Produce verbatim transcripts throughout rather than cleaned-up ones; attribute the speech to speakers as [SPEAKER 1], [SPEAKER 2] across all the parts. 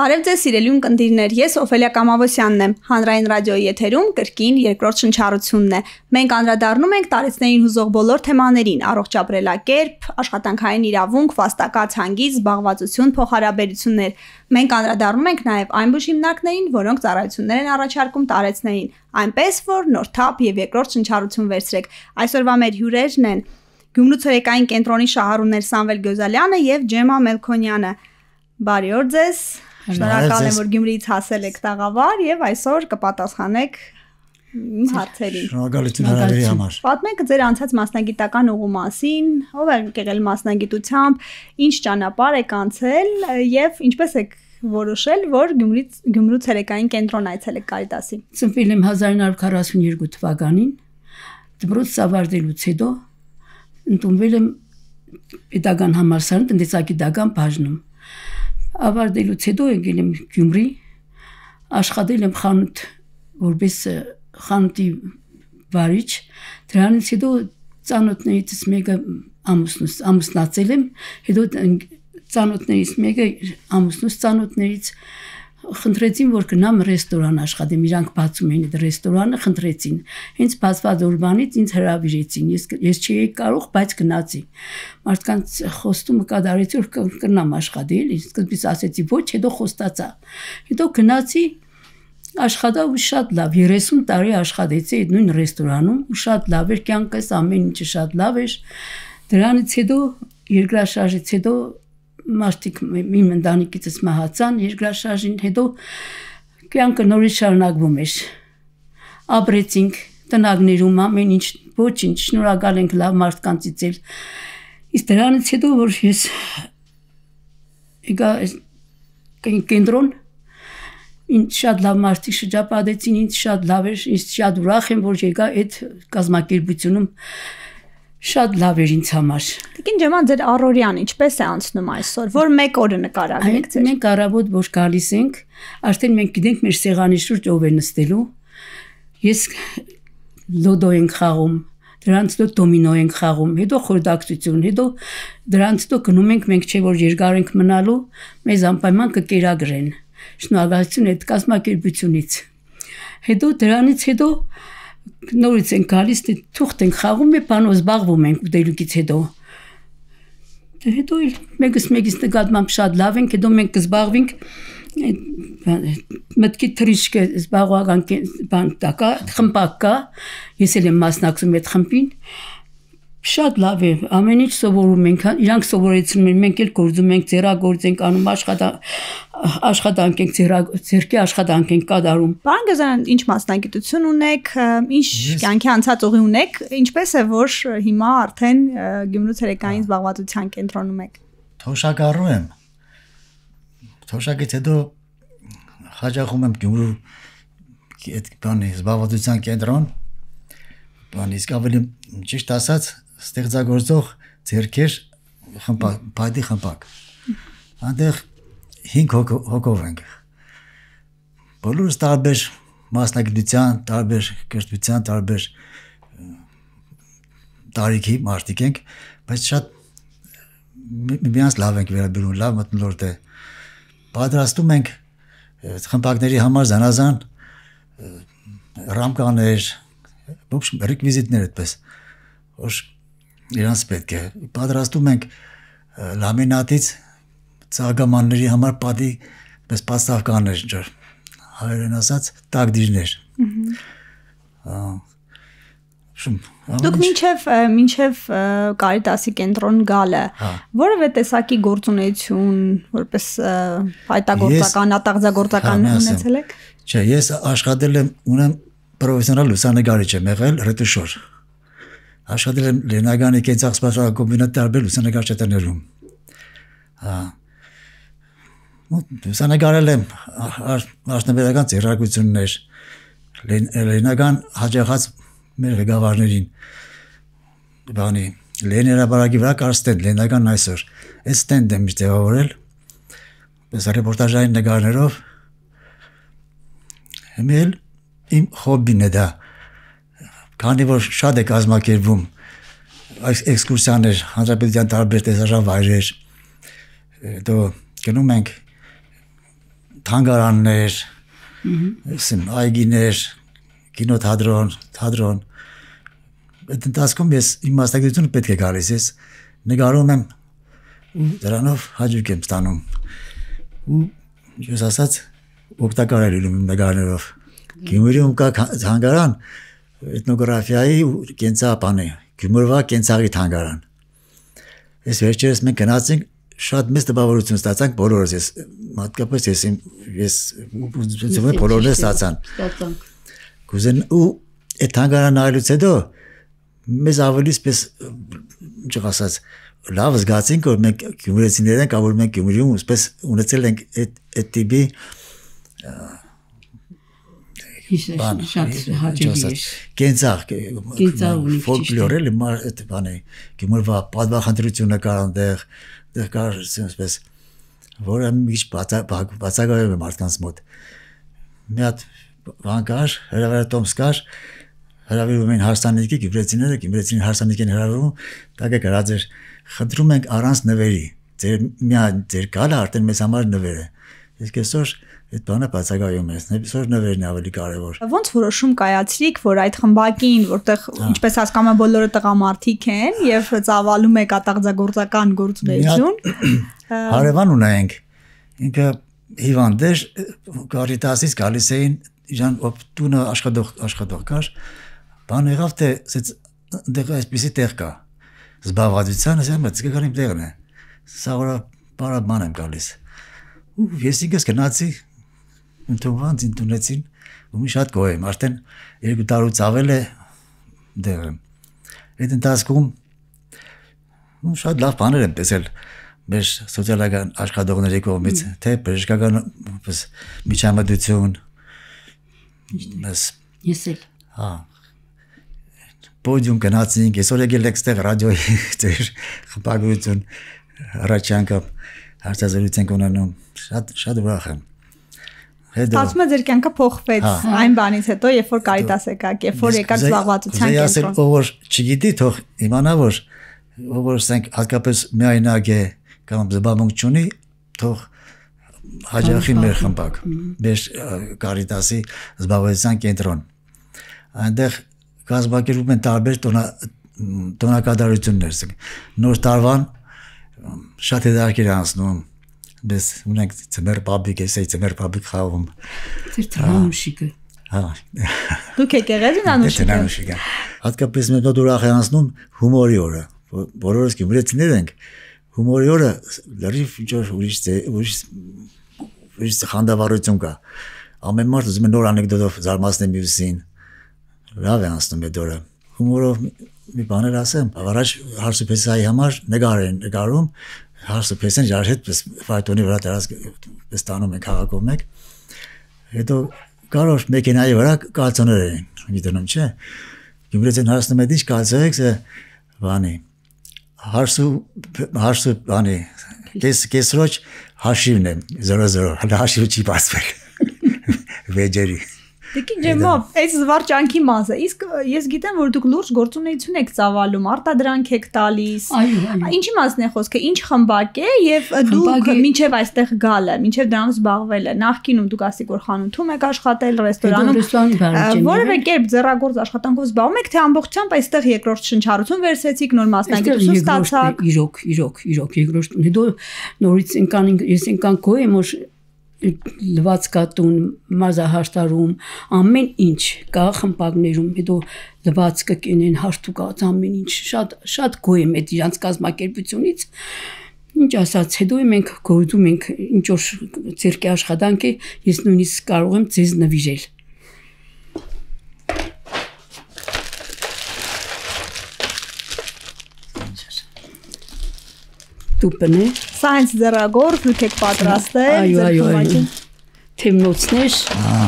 [SPEAKER 1] Բարև ձեզ սիրելի ունկնդիրներ, ես Օֆելիա Կամավոսյանն եմ, հանրային ռադիոյի եթերում կրկին երկրորդ շնչառությունն է։ Մենք անդրադառնում ենք տարեցներին հուզող բոլոր թեմաներին՝ առողջ ապրելակերպ, աշխատանքային իրավունք, վաստակած հանգիստ, զբաղվածություն, փոխհարաբերություններ։ Մենք անդրադառնում ենք նաև այն բուժ հիմնարկներին, որոնք ծառայություններ են առաջարկում տարեցներին, այնպես որ նոր թափ եւ երկրորդ շնչառություն վերցրեք։ Այսօրվա մեր հյուրերն են Գյումրու ցերեկային կենտրոնի շահառուներ Սամվել Գյոզալյանը եւ Ջեմա Մելքոնյանը։ Բարի օր ձեզ։ Շնորհակալ եմ, որ Գյումրիից հասել եք տաղավար եւ այսօր կպատասխանեք իմ հարցերին։
[SPEAKER 2] Շնորհակալություն հրավերի համար։
[SPEAKER 1] Պատմեք ձեր անցած մասնագիտական ուղու մասին, ով եք եղել մասնագիտությամբ, ինչ ճանապարհ եք անցել եւ ինչպես եք որոշել, որ Գյումրից Գյումրու ցերեկային կենտրոն այցելեք Կարիտասի։
[SPEAKER 3] Ծնվել եմ հազար նոր քառասունյոթ թվականին, դպրոց ավարտելուց հետո ընդունվել եմ պետական համալսարան տնտեսագիտական բաժնում։ Ավարտելուց հետո եկել եմ Գյումրի, աշխատել եմ խանութ որպես խանութի վարիչ, դրանից հետո ծանոթներից մեկը ամուսնուս ամուսնացել եմ, հետո ծանոթներից մեկը ամուսնուս ծանոթներից խնդրեցին, որ գնամ ռեստորան աշխատեմ, իրանք բացում էին այդ ռեստորանը, խնդրեցին։ Հենց բացված օրվանից ինձ հրավիրեցին, ես ես չէի կարող, բայց գնացի։ Մարդկանց խոստումը կատարեցի, որ կգնամ աշխատել, սկզբից ասեցի ոչ, հետո խոստացա։ Հետո գնացի, աշխատա ու շատ լավ, երեսուն տարի աշխատեցի այդ նույն ռեստորանում, ու շատ լավ էր, կյանքս ամեն ինչը շատ լավ էր։ Դրանից հետո երկրաշարժից հետո մարդիկ իմ ընտանիքից մահացան, երկրաշարժին հետո կյանքը նորից շարունակվում էր։ Ապրեցինք տնագներում ամեն ինչ, ոչինչ, շնորհակալ ենք լավ մարդկանցից էլ։ Իսկ դրանից հետո որ ես եկա կենտրոն, ինձ շատ լավ մարդիկ շրջապատեցին, ինձ շատ լավ էր, ինձ շատ ուրախ եմ, որ եկա այդ կազմակերպությունում շատ լավ էր ինձ համար։
[SPEAKER 1] Տիկին Ջեմա, ձեր առօրյան ինչպես է անցնում այսօր, որ մեկ օրը նկարագրեք ձեր։
[SPEAKER 3] Մենք առավոտ որ գալիս ենք, արդեն մենք գիտենք մեր սեղանի շուրջ ով է նստելու։ Ես լոդո ենք խաղում, դրանց հետո դոմինո ենք խաղում, հետո խորհրդակցություն, հետո դրանց հետո գնում ենք, մենք չէ որ երկար ենք մնալու, մեզ անպայման կկերագրեն։ Շնորհակալություն այդ կազմակերպությունից։ Հետո դրանից հետո նորից ենք գալիս, թուղթ ենք խաղում, մի բանով զբաղվում ենք ուտելուկից հետո։ Հետո մեկս մեկից նկատմամբ շատ լավ ենք, հետո մենք կզբաղվենք մտքի թրիշկը զբաղողական բան տակա, խմբակ կա, ես էլ եմ մասնակցում այդ խմբին, շատ լավ է, ամեն ինչ սովորում ենք, իրանք սովորեցնում են, մենք էլ գործում ենք, ձեռագործ ենք անում, աշխատանք ենք, ձեռքի աշխատանք ենք կատարում։
[SPEAKER 1] Պարոն Գյոզալյան, ինչ մասնագիտություն ունեք, ինչ կյանքի անցած ուղի ունեք, ինչպես է որ հիմա արդեն Գյումրու ցերեկային զբաղվածության կենտրոնում եք։
[SPEAKER 2] Թոշակառու եմ։ Թոշակից հետո հաճախում եմ Գյումրու այդ բանի զբաղվածության կենտրոն, բան իսկ ավելի ճիշտ ասած ստեղծագործող ձեռքեր խմբակ, բայդի խմբակ։ Այնտեղ հինգ հոգով ենք։ Բոլորս տարբեր մասնագիտության, տարբեր կրթության, տարբեր տարիքի մարդիկ ենք, բայց շատ միմյանց լավ ենք վերաբերում, լավ մթնոլորտ է։ Պատրաստում ենք խմբակների համար զանազան ռամկաներ, ոբշ ռեկվիզիտներ այդպես, որ իրանց պետք է։ Պատրաստում ենք լամինատից ծաղկամանների համար պատի պես պաստավկաներ, ինչ-որ հայերեն ասած տակդիրներ։
[SPEAKER 1] Դուք մինչև մինչև Կարիտասի կենտրոն գալը որևէ տեսակի գործունեություն, որպես հայտագործական, ատաղձագործական ունեցել եք։
[SPEAKER 2] Չէ, ես աշխատել եմ, ունեմ պրոֆեսիոնալ լուսանկարիչ եմ եղել, ռետուշոր։ Աշխատել եմ Լեննագանի կենցաղսպասական կոմբինատի տարբեր լուսանկարչատներում։ Լուսանկարել եմ արդյունաբերական ձեռագրություններ, Լեննագան հաջողած մեր ղեկավարներին, բանի Լենին հրապարակի վրա կար ստենդ, Լեննագան այսօր, այդ ստենդ եմ տեղավորել, պես ռեպորտաժային նկարներով, հիմա էլ իմ հոբբին է դա, քանի որ շատ է կազմակերպվում այս էքսկուրսիաներ, հանրապետության տարբեր տեսարժան վայրեր, հետո գնում ենք թանգարաններ, ասեմ, այգիներ, կինոթատրոն, թատրոն։ Այդ ընթացքում ես իմ մասնագիտությունը պետք է գալիս, ես նկարում եմ ու դրանով հաջող եմ ստանում։ Ու ես ասած օգտակար է լինում իմ նկարներով։ Գյումրիում կա թանգարան, էթնոգրաֆիայի ու կենցաղապանի, Գյումրվա կենցաղի թանգարան։ Ես վերջերս մենք գնացինք, շատ մեծ տպավորություն ստացանք բոլորս, ես մատկապես ես ես բոլորն ստացան։ Կուզեն ու այդ թանգարանը նայելուց հետո մեզ ավելի սպես ինչ ասած լավ զգացինք, որ մենք գյումրեցիներ ենք, որ մենք Գյումրիում սպես ունեցել ենք այդ այդ տիպի
[SPEAKER 3] շատ հաճելի է։
[SPEAKER 2] Կենցաղ, ֆոլկլոր էլի այդ բանը, Գյումրվա պատվախնդրությունը կար այնտեղ, դեռ կար այսպես, որը մի քիչ բացակայում է մարդկանց մոտ։ Մի հատ բան կար, հրավերատոմս կար, հրավիրում էին հարսանիքի, գյումրեցիները, գյումրեցին հարսանիք են հրավիրում, տակը գրած էր, խնդրում ենք առանց նվերի, ձեր միայն ձեր գալը արդեն մեզ համար նվեր է։ Իսկ այսօր այդ բանը բացակայում է, այսօր նվերն է ավելի կարևոր։
[SPEAKER 1] Ոնց որոշում կայացրիք, որ այդ խմբակին, որտեղ ինչպես հասկանում եմ բոլորը տղամարդիկ են եւ ծավալում է կատաղձագործական գործունեություն,
[SPEAKER 2] հարևան ունենք, ինքը հիվանդ էր, Կարիտասից գալիս էին, իրան տունը աշխատող աշխատող կար, բան եղավ թե դեղ այսպեսի տեղ կա, զբաղվածության, ասեմ, դե գալիմ տեղն է, սա որա բարաբան եմ գալիս, ու ես ինքս գնացի, ընդունվանց ինտունեցին, ու մի շատ գոհ եմ, արդեն երկու տարուց ավել է դեղը, այդ ընթացքում շատ լավ բաներ եմ տեսել, մեր սոցիալական աշխատողների կողմից, թե բժշկական միջամտություն,
[SPEAKER 3] ես էլ,
[SPEAKER 2] հա, պոդիում գնացինք, այսօր եկել եք ստեղ ռադիոյի ձեր խմբագրություն առաջանքը հարցազրույց ենք ունենում, շատ ուրախ եմ։
[SPEAKER 1] Ստացվում է ձեր կյանքը փոխվեց այն բանից հետո, երբ որ Կարիտաս եկաք, երբ որ եկաք զբաղվածության կենտրոն։
[SPEAKER 2] Ով որ չգիտի, թող իմանա, որ ով որ ասենք հատկապես միայնակ է կամ զբաղմունք չունի, թող հաջողի մեր խմբակ, մեր Կարիտասի զբաղվածության կենտրոն։ Այնտեղ կազմակերպում են տարբեր տոնակատարություններ, նոր տարվան շատ հետաքրքիր անցնում, biz ունենք ծմեր պաբիկ, էսի ծմեր պաբիկ խաղում։
[SPEAKER 3] Ձեր տրամուշիկը։
[SPEAKER 2] Հա։
[SPEAKER 1] Դուք եկեք եղել
[SPEAKER 2] անուշիկը։ Հատկապես մենք նոր ուրախ ենք անցնում հումորի օրը, բոլորս գյումրեցիներ ենք, հումորի օրը լրիվ ինչ-որ ուրիշ ուրիշ ուրիշ խանդավառություն կա։ Ամեն մարդ ուզում է նոր անեկդոտով զարմացնել մյուսին։ Լավ է անցնում այդ օրը։ Հումորով մի բաներ ասեմ, առաջ հարսուփեսայի համար նկար են նկարում, հարսուփեսեն ջար հետ ֆայտոնի վրա դրած ստանում են քաղաքով մեկ։ Հետո կարող մեքենայի վրա կալցոներ են, գիտենում չէ։ Գյումրեցին հարցնում է ինչ կալցո եք, սա բանի։ Հարսու հարսու բանի, կես կեսրոջ հաշիվն է զորո զորո, հələ հաշիվը չի բացվել։ Վեջերի։
[SPEAKER 1] Դեկի ջեմա, այս զվարճանքի մասը, իսկ ես գիտեմ, որ դուք լուրջ գործունեություն եք ծավալում, արտադրանք եք տալիս։ Ինչի մասն է խոսքը, ինչ խմբակ է եւ դուք մինչեւ այստեղ գալը, մինչեւ դրանով զբաղվելը, նախկինում դուք ասիք որ խանութում եք աշխատել, ռեստորանում, որևէ կերպ ձեռագործ աշխատանքով զբաղվում եք, թե ամբողջությամբ այստեղ երկրորդ շնչառություն վերցրեցիք, նոր մասնագիտություն ստացաք։
[SPEAKER 3] Իրոք, իրոք, իրոք, երկրորդ, հետո նորից ինքան ես ինքան գոհ եմ, որ լվացկատուն, մարզահաշտարում, ամեն ինչ կա խմբակներում, հետո լվացկը կենեն հարթուկած ամեն ինչ, շատ շատ գոհ եմ այդ իրանց կազմակերպությունից, ինչ ասած, հետո մենք գործում ենք ինչ որ ցերկի աշխատանք է, ես նույնիսկ կարող եմ ձեզ նվիրել։ Տուպնե
[SPEAKER 1] Սա հենց ձեռագործ դուք եք պատրաստել,
[SPEAKER 3] այո, այո, այո։ Թեմնոցներ։
[SPEAKER 2] Ահա։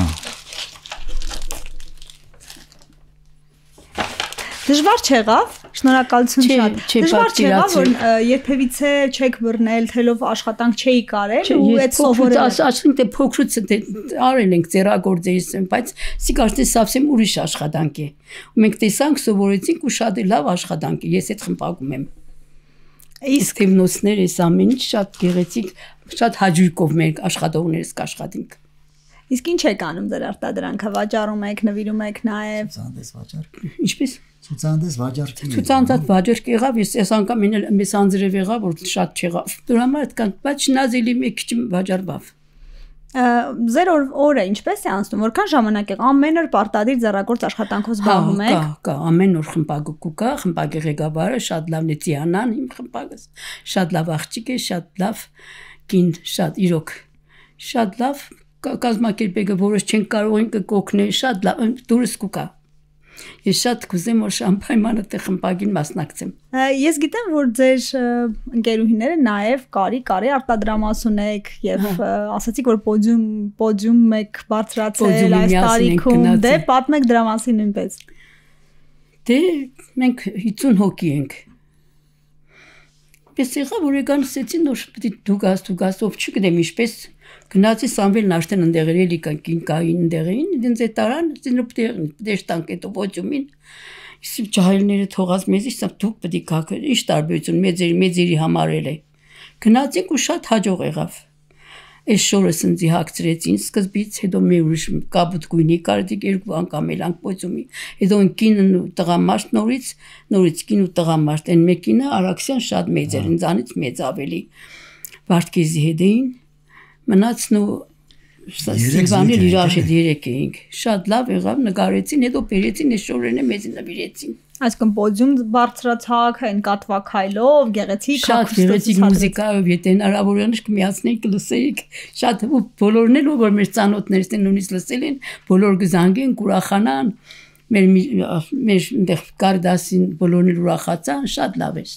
[SPEAKER 1] Դժվար չեղավ, շնորհակալություն շատ։ Դժվար չեղավ, որ երբևիցե չեք բռնել, թելով աշխատանք չէի կարել ու այդ սովորել։
[SPEAKER 3] Ասում թե փոքրուց արել ենք ձեռագործերից, բայց սի կարծես совсем ուրիշ աշխատանք է։ Ու մենք տեսանք, սովորեցինք ու շատ լավ աշխատանք է։ Ես այդ խմբակում եմ։ Իսկ թիմնոցներ էս ամեն ինչ շատ գեղեցիկ, շատ հաջողով մեր աշխատողներս կաշխատենք։
[SPEAKER 1] Իսկ ինչ եք անում ձեր արտադրանքը, վաճառում եք, նվիրում եք նաև։
[SPEAKER 2] Ցուցանտես վաճառք։
[SPEAKER 3] Ինչպես։
[SPEAKER 2] Ցուցանտես վաճառք։
[SPEAKER 3] Ցուցանտած վաճառք եղավ, ես այս անգամ մեզ անձրև եղավ, որ շատ չեղավ։ Դրա համար այդքան, բայց նազելի մեկ քիչ վաճառվավ։
[SPEAKER 1] Ձեր օրը ինչպես է անցնում, որքան ժամանակ եք ամեն օր պարտադիր ձեռագործ աշխատանքով զբաղվում եք։
[SPEAKER 3] Կա, կա, ամեն օր խմբագու կա, խմբագի ղեկավարը շատ լավն է Ծիանան, իմ խմբագս, շատ լավ աղջիկ է, շատ լավ կին, շատ իրոք, շատ լավ կազմակերպելը, որոշ չեն կարող են կօգնել, շատ լավ, դուրս կուկա։ Ես շատ կուզեմ, որ անպայման այդ խմբագին մասնակցեմ։
[SPEAKER 1] Ես գիտեմ, որ ձեր ընկերուհիները նաև կարի կարի արտադրամաս ունեք եւ ասացիք, որ պոդիում պոդիում եք բարձրացել այս տարիքում, դե պատմեք դրա մասին նույնպես։
[SPEAKER 3] Դե մենք հիսուն հոգի ենք։ Պես եղավ, որ եկան ասեցին, որ պետք է դու գաս, դու գաս, ով չգիտեմ ինչպես գնացի Սամվելն արդեն ընդեղել էլի կին կային ընդեղին, դենց է տարան, դենց դեշտանք էտո ոճումին, իսկ ջահելները թողած մեզ իսկ դուք պետք է գաք, ինչ տարբերություն մեծերի մեծերի համար էլ է։ Գնացինք ու շատ հաջող եղավ։ Այս շորը սնձի հագցրեցին սկզբից, հետո մի ուրիշ կապուտ գույնի կարդիկ երկու անգամ էլանք ոճումի, հետո կինն ու տղամարդ նորից, նորից կին ու տղամարդ, այն մեկինը Արաքսյան շատ մեծ էր, ինձանից մեծ ավելի։ Վարդգեզի հետ էին մնացն ու Սիլվանել իրար հետ երեք էինք, շատ լավ եղավ, նկարեցին, հետո բերեցին այս շորերն մեզ նվիրեցին։
[SPEAKER 1] Այսինքն պոդիում բարձրացակ, այն կատվակայլով, գեղեցիկ,
[SPEAKER 3] շատ գեղեցիկ մուզիկայով, եթե հնարավոր է կմիացնենք, կլսեիք, շատ բոլորն էլ որ մեր ծանոթներս են նույնիսկ լսել են, բոլոր կզանգեն, կուրախանան, մեր մեր այնտեղ կարդասին բոլորն էլ ուրախացան, շատ լավ էր։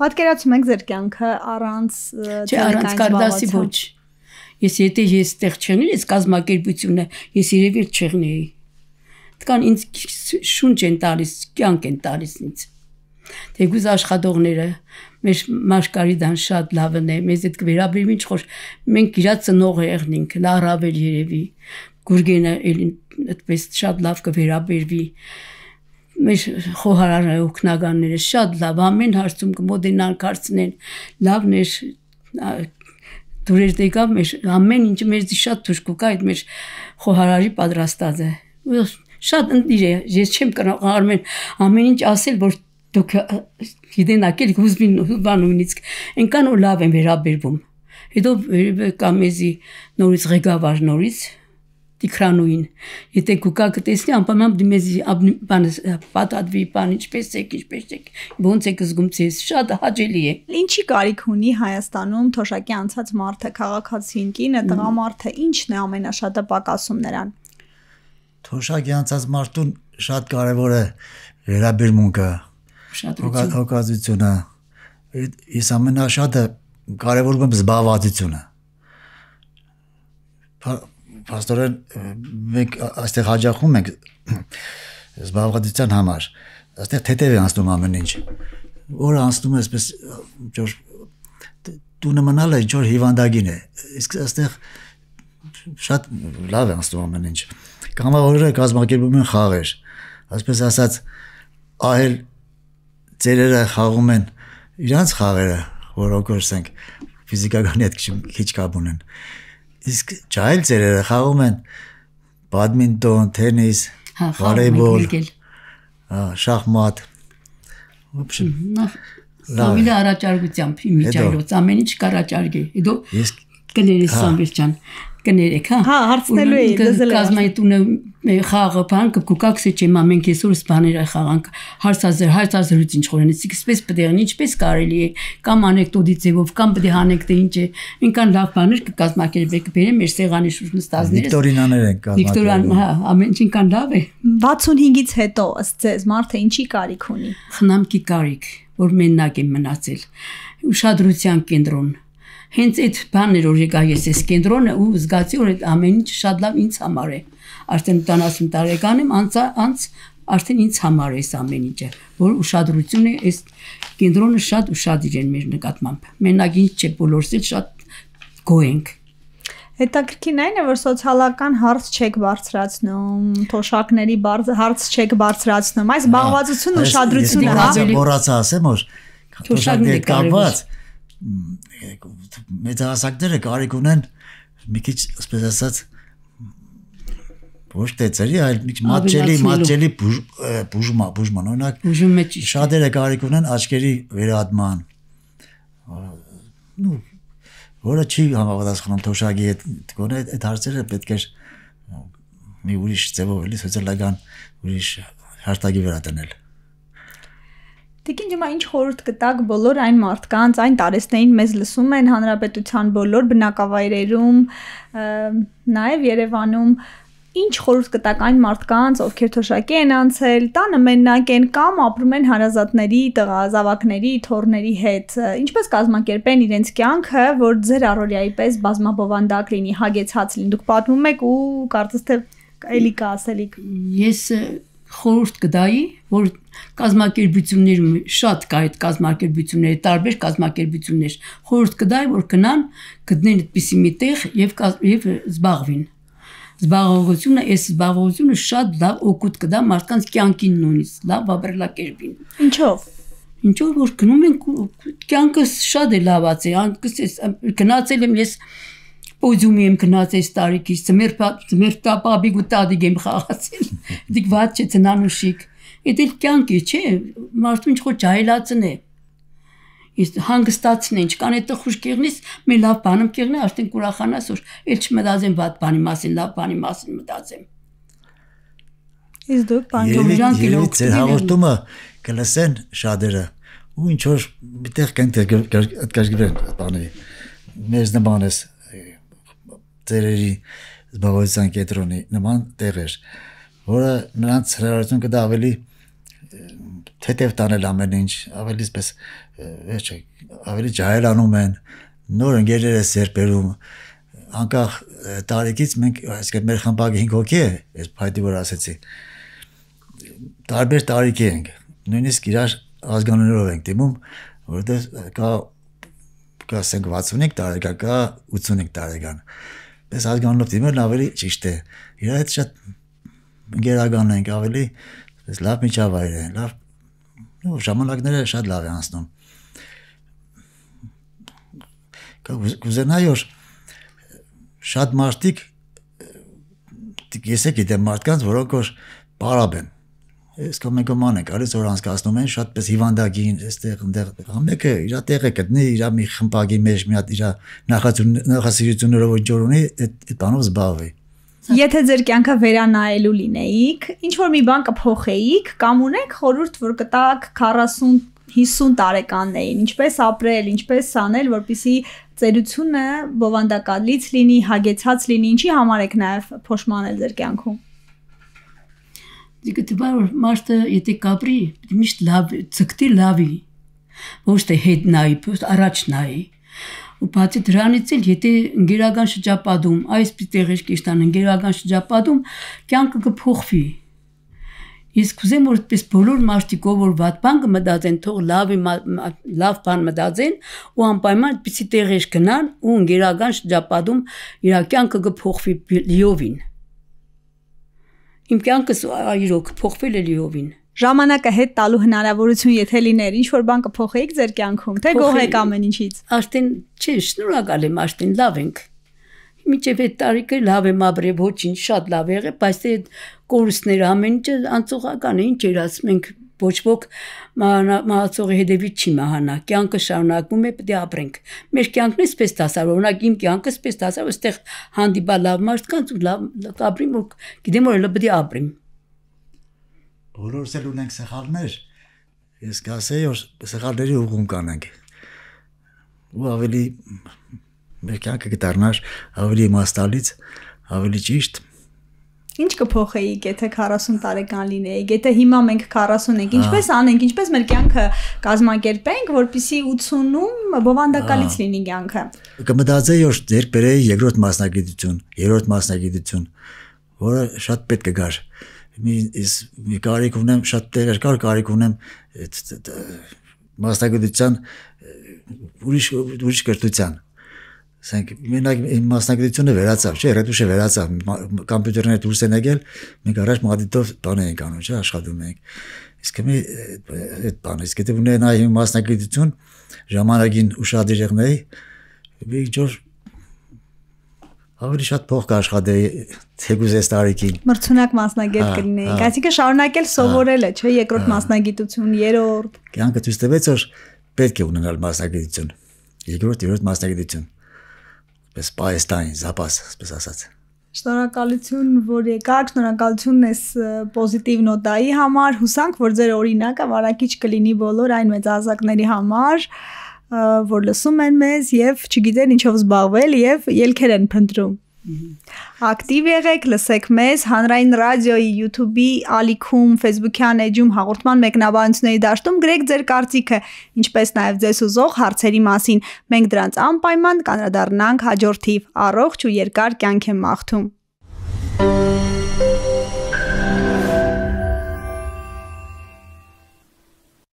[SPEAKER 1] Պատկերացում եք ձեր կյանքը առանց
[SPEAKER 3] Չէ, առանց կարդասի ոչ։ Ես եթե ես տեղ չեղնեի, ես կազմակերպությունը, ես երևի չեղնեի։ Դքան ինձ շունչ են տալիս, կյանք են տալիս ինձ։ Թեգուզ աշխատողները, մեր Մաշկարիդան շատ լավն է, մեզ այդ կվերաբերվի ինչ որ մենք իրա ծնողը եղնենք, լարավել երևի, Գուրգենը այդպես շատ լավ կվերաբերվի։ Մեր խոհարարը օգնականները շատ լավ, ամեն հարցում կմոդենան կարծնեն, լավն էր դուրեր դեկավ մեր ամեն ինչը մեր շատ թուրք կա այդ մեր խոհարարի պատրաստած է շատ ընտիր է ես չեմ կարող ամեն ինչ ասել որ դուք գիտենաք եք ուզվին բանունից այնքան ու լավ են վերաբերվում հետո կամեզի նորից ղեկավար նորից Տիգրանուին եթե կուկա կտեսնի անպայման դիմեզի բան պատադվի բան ինչպես եք ինչպես եք ոնց եք զգում ցես շատ հաճելի է
[SPEAKER 1] Ինչի կարիք ունի Հայաստանում թոշակի անցած մարդը քաղաքացին կինը տղամարդը ինչն է ամենաշատը պակասում նրան
[SPEAKER 2] Թոշակի անցած մարդուն շատ կարևոր է վերաբերմունքը հոգացությունը ես ամենաշատը կարևորում եմ զբաղվածությունը Պաստորեն մենք այստեղ հաջախում ենք զբաղվածության համար այստեղ թեթև է անցնում ամեն ինչ որը անցնում է այսպես ինչ տունը մնալը ինչ որ հիվանդագին է իսկ այստեղ շատ լավ է անցնում ամեն ինչ կամավորները կազմակերպում են խաղեր այսպես ասած ահել ծերերը խաղում են իրանց խաղերը որ օգորսենք ֆիզիկականի հետ քիչ կապ ունեն Իսկ ջահել ծերերը խաղում են բադմինտոն, թենիս, վոլեյբոլ, շախմատ։ Ոբշեմ։
[SPEAKER 3] Լավ։ Առաջարկությամբ իմիջայլոց ամեն ինչ կարաճարգի։ Հետո կներես Սամվելյան կներեք, հա։
[SPEAKER 1] Հա, հարցնելու էի, դզել եմ։
[SPEAKER 3] Կազմայտունը խաղը բան կուկակսի չեմ ամենք այսօրս բաները խաղանք հարցազր հարցազրույց ինչ խորենից իսպես պետք է ինչպես կարելի է կամ անեկդոտի ձևով կամ պետք է հանեք թե ինչ է ինքան լավ բաներ կկազմակերպեք բերեմ մեր սեղանի շուրջ նստածները
[SPEAKER 2] Վիկտորինաներ են կազմակերպում
[SPEAKER 3] Վիկտորիան հա ամեն ինչ ինքան լավ է
[SPEAKER 1] վաթսունհինգից հետո ըստ ձեզ մարդը ինչի կարիք ունի
[SPEAKER 3] խնամքի կարիք որ մենակ եմ մնացել ուշադրության կենտրոն Հենց այդ բաններ որ եկա ես այս կենտրոնը ու զգացի որ այդ ամեն ինչ շատ լավ ինձ համար է արդեն ութանասուն տարեկան եմ անց անց արդեն ինձ համար է այս ամեն ինչը որ ուշադրությունը այս կենտրոնը շատ ուշադիր են մեր նկատմամբ մենակ ինչ չէ բոլորս էլ շատ գոհենք
[SPEAKER 1] Հետաքրքիրն այն է որ սոցիալական հարց չեք բարձրացնում թոշակների հարց չեք բարձրացնում այս զբաղվածությունը ուշադրությունը հա
[SPEAKER 2] մոռացա ասեմ որ
[SPEAKER 3] Թոշակները
[SPEAKER 2] կապված մեծահասակները կարիք ունեն մի քիչ ասես ասած ոչ թե ծերի, այլ մի քիչ մատչելի, մատչելի բուժմա, բուժման, օրինակ շատերը կարիք ունեն աչքերի վերահատման, նու որը չի համապատասխանում թոշակի հետ, գոնե այդ հարցերը պետք է մի ուրիշ ձևով էլի սոցիալական ուրիշ հաշտագի վրա դնել։
[SPEAKER 1] Տիկին ջմա ինչ խորհուրդ կտակ բոլոր այն մարդկանց, այն տարեցներին մեզ լսում են հանրապետության բոլոր բնակավայրերում, նաև Երևանում, ինչ խորհուրդ կտակ այն մարդկանց, ովքեր թոշակի են անցել, տանը մենակ են կամ ապրում են հարազատների, տղազավակների, թոռների հետ, ինչպես կազմակերպեն իրենց կյանքը, որ ձեր առօրյայի պես բազմաբովանդակ լինի, հագեցած լինի։ Դուք պատմում եք ու կարծես թե էլի կա ասելիք։
[SPEAKER 3] Ես խորհուրդ կտայի, որ կազմակերպություններում շատ կա այդ կազմակերպությունները, տարբեր կազմակերպություններ, խորհուրդ կտայի, որ գնան, գտնեն այդպիսի մի տեղ եւ եւ զբաղվին։ Զբաղողությունը, այս զբաղողությունը շատ լավ օգուտ կտա մարդկանց կյանքին նույնիսկ, լավ ապրելակերպին։
[SPEAKER 1] Ինչով։
[SPEAKER 3] Ինչով որ գնում են կյանքը շատ է լավացել, գնացել եմ ես Պոդիումի եմ գնացել տարիքից, ծմերտապաբիկ ու տադիկ եմ խաղացել, դիք վատ չէ ծնանուշիկ, էդ էլ կյանք է, չէ, մարդու ինչ խոր ջահելացն է, ես հանգստացն է, ինչքան է տխուր կեղնիս, մի լավ բանում կեղնի, արդեն կուրախանաս, որ էլ չմտածեմ վատ բանի մասին, լավ բանի մասին մտածեմ։
[SPEAKER 1] Իսկ դուք
[SPEAKER 2] Երևի ձեր հաղորդումը կլսեն շատերը, ու ինչ որ միտեղ կգրգրեն բանի, մեզ նման ես ծերերի զբաղվածության կետրոնի նման տեղեր, որը նրանց հրավերություն կտա ավելի թեթև տանել ամեն ինչ, ավելի սպես ավելի ջահելանում են, նոր ընկերներ է սերպերում, անկախ տարիքից մենք, այսինքն մեր խմբակը հինգ հոգի է, ես փայտի որ ասեցի, տարբեր տարիքի ենք, նույնիսկ իրար ազգանուններով ենք դիմում, որովհետև կա կա ասենք վաթսունհինգ տարեկան, կա ութսունհինգ տարեկան, պես ազգանունով դիմելն ավելի ճիշտ է, իրար հետ շատ ընկերական ենք, ավելի լավ միջավայր է, լավ ժամանակները շատ լավ է անցնում։ Կուզենայի որ շատ մարդիկ ես է գիտեմ մարդկանց, որոնք որ պարապ են, ես կոմեկոման ենք, արից որ անցկացնում են, շատ պես հիվանդագին, այստեղ այնտեղ մեկը իր տեղը գտնի, իր մի խմբակի մեջ մի հատ իր նախասիրություններով ինչ որ ունի, այդ բանով զբաղվի։
[SPEAKER 1] Եթե ձեր կյանքը վերանայելու լինեիք, ինչ որ մի բան կփոխեիք, կամ ունեք խորհուրդ, որ կտաք քառասուն հիսուն տարեկաններին, ինչպես ապրել, ինչպես անել, որպեսզի ծերությունը բովանդակալից լինի, հագեցած լինի, ինչի համար եք նաև փոշմանել ձեր կյանքում։
[SPEAKER 3] Դիգը դեպի մարդը եթե կապրի, միշտ լավ, ցկտի լավի, ոչ թե հետ նայի, առաջ նայի։ Ու բացի դրանից էլ եթե ընկերական շրջապատում, այս տեղեր կիստան ընկերական շրջապատում կյանքը կփոխվի։ Իսկ ուզեմ որ այդպես բոլոր մարդիկ որ վատ բան կմտածեն, թող լավ լավ բան մտածեն ու անպայման այդպիսի տեղեր գնան ու ընկերական շրջապատում իր կյանքը կփոխվի լիովին։ Իմ կյանքս այրոք փոխվել է լիովին։
[SPEAKER 1] Ժամանակը հետ տալու հնարավորություն եթե լիներ, ինչ որ բան կփոխեիք ձեր կյանքում, թե գոհ եք ամեն ինչից։
[SPEAKER 3] Արդեն չէ, շնորհակալ եմ, արդեն լավ ենք։ Միջև այդ տարիքը լավ եմ ապրել, ոչինչ շատ լավ եղել, բայց այդ կորուստները ամեն ինչը անցողական է, ինչ էր ասում ենք, ոչ ոք մահացողի հետևից չի մահանա, կյանքը շարունակվում է, պետք է ապրենք։ Մեր կյանքն է սպես դասար, օրինակ իմ կյանքը սպես դասար, այստեղ հանդիպա լավ մարդկանց ու լավ ապրիմ, որ գիտեմ որ պետք է ապրիմ։
[SPEAKER 2] Բոլորս էլ ունենք սխալներ, ես կասեի, որ սխալների ուղղում կանենք, ու ավելի մեր կյանքը կդառնար ավելի իմաստալից, ավելի ճիշտ։
[SPEAKER 1] Ինչ կփոխեիք, եթե քառասուն տարեկան լինեիք, եթե հիմա մենք քառասուն ենք, ինչպես անենք, ինչպես մեր կյանքը կազմակերպենք, որպեսզի ութսունում բովանդակալից լինի կյանքը։
[SPEAKER 2] Կմտածեի, որ ձեր բերեի երկրորդ մասնագիտություն, երրորդ մասնագիտություն, որը շատ պետք է գար։ Մի կարիք ունեմ, շատ տեղեր կար կարիք ունեմ մասնագիտության ուրիշ ուրիշ կրթության, ասենք մենակ իմ մասնագիտությունը վերացավ, չէ, ռետուշը վերացավ, կոմպյուտերն է դուրս են եկել, մենք առաջ մադիտով բան էինք անում, չէ, աշխատում էինք։ Իսկ մի այդ բանը, իսկ եթե ունենայի իմ մասնագիտություն, ժամանակին ուշադիր եղնեի, մի ջոր ավելի շատ փող կաշխատեի թեկուզ այս տարիքին։
[SPEAKER 1] Մրցունակ մասնագետ կլինեիք, այսինքն շարունակել սովորելը, չէ, երկրորդ մասնագիտություն, երրորդ։
[SPEAKER 2] Կյանքը ցույց տվեց, որ պետք է ունենալ մասնագիտություն, երկրորդ, երրորդ մասնագիտություն, պես պայստային, զապաս, պես ասած։
[SPEAKER 1] Շնորհակալություն, որ եկաք, շնորհակալություն այս պոզիտիվ նոտայի համար, հուսանք, որ ձեր օրինակը վարակիչ կլինի բոլոր այն մեծահասակների համար, որ լսում են մեզ եւ չգիտեն ինչով զբաղվել եւ ելքեր են փնտրում։ Ակտիվ եղեք, լսեք մեզ Հանրային ռադիոյի YouTube-ի ալիքում, Facebook-յան էջում հաղորդման մեկնաբանությունների դաշտում գրեք ձեր կարծիքը, ինչպես նաեւ ձեզ ուզող հարցերի մասին։ Մենք դրանց անպայման կանդրադառնանք հաջորդիվ։ Առողջ ու երկար կյանք եմ մաղթում։